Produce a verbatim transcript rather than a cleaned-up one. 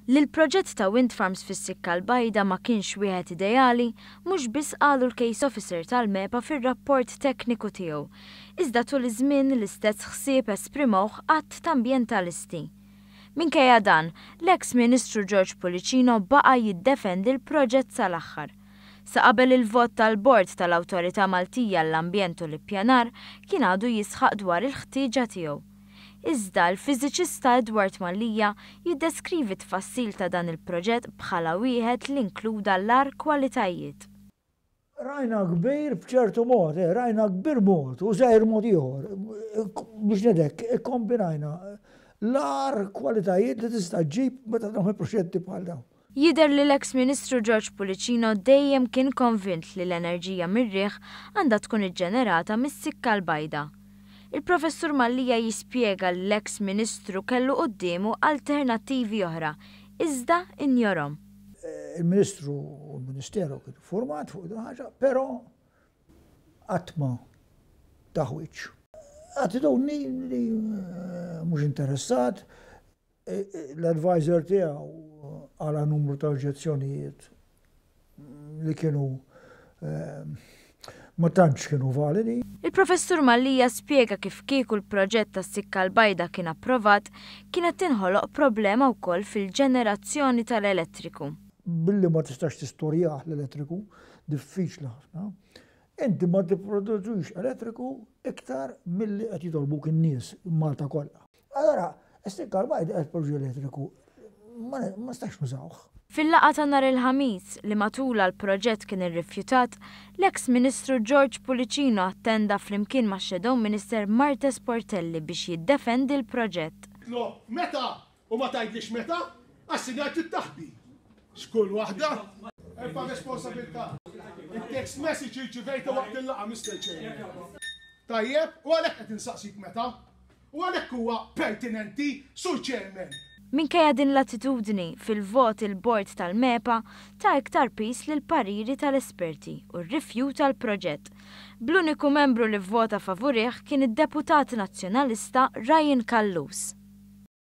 Li l-proġett ta' wind farms fis-Sikka l-Bajda ma kienx wieħed ideali, mhux biss qalu l-case officer tal-MEPA fir-rapport tekniku tiegħu. Iżda tul iż-żmien l-istess ħsieb esprimewh għadd ta' ambjentalisti. Minkejja dan, l-eks Ministru George Pullicino baqa' jiddefendi l-proġett sal-aħħar. Sa qabel il-vot tal-Bord tal-Awtorità Maltija l-Ambjent u l-Ippjanar kien għadu jisħaq dwar il-ħtieġa tiegħu. Iżda l-fiżiċista Edward Mallia jiddeskrivi tfassil ta' dan il-proġett bħala wieħed li inkluda l-agħar kwalitajiet. Rajna kbir b'ċertu mod, eh, rajna kbir mod u żgħir mod ieħor. Biex ngħidlek, ikkombinajna l-agħar kwalitajiet li tista' ġġib meta tagħmel proġetti bħal dawn. Jidher li l-eks Ministru George Pullicino dejjem kien konvint li l-enerġija mir-riħ għandha tkun iġġenerata mis-Sikka l-Bajda. Il-Professur Mallia jispjega li l-eks Ministru kellu quddiemu alternattivi oħra, iżda injorahom. Il-Ministru u l-Ministeru kienu format fuq din ħaġa, però qatt ma taħwiċ. Attitudni li mhux interessat, l-advisor tiegħu għala numru ta' oġġezzjonijiet li kienu ma tantx kienu validi. Il-Professur Mallia spjega kif kieku l-proġett tas-Sikka l-Bajda kien approvat, kienet tinħoloq problema wkoll fil-ġenerazzjoni tal-elettriku. Billi ma tistax tistorjah l-elettriku, diffiċli ħafna, inti ma tipproduċux elettriku iktar milli qed jitolbuk in-nies Malta kollha. Allora, is-Sikka l-Bajda qed produċi elettriku ma nistax nużawh. Fil-laqgħa ta' nhar il-Ħamis li matulha l-proġett kien irrifjutat, l-eks Ministru George Pullicino attenda flimkien ma' Shadow Minister Marthese Portelli biex jiddefendi l-proġett. Lo, meta? U ma tgħidlix meta? Għas-sinjal tittaħbi. Xkull waħda? Erfa' responsabilità. Il-text message irċivejta waqt il-laqgħa, Mister Chairman. Tajjeb, u għalhekk qed insaqsik meta? U għalhekk huwa pertinenti, Sur Chairman. Minkejja din l-attitudni, fil-vot il-bord tal-MEPA ta iktar piż lil pariri tal-esperti u rrifjuta l-proġett. Bl-uniku membru li vvota favurih kien id-deputat nazzjonalista Ryan Callus.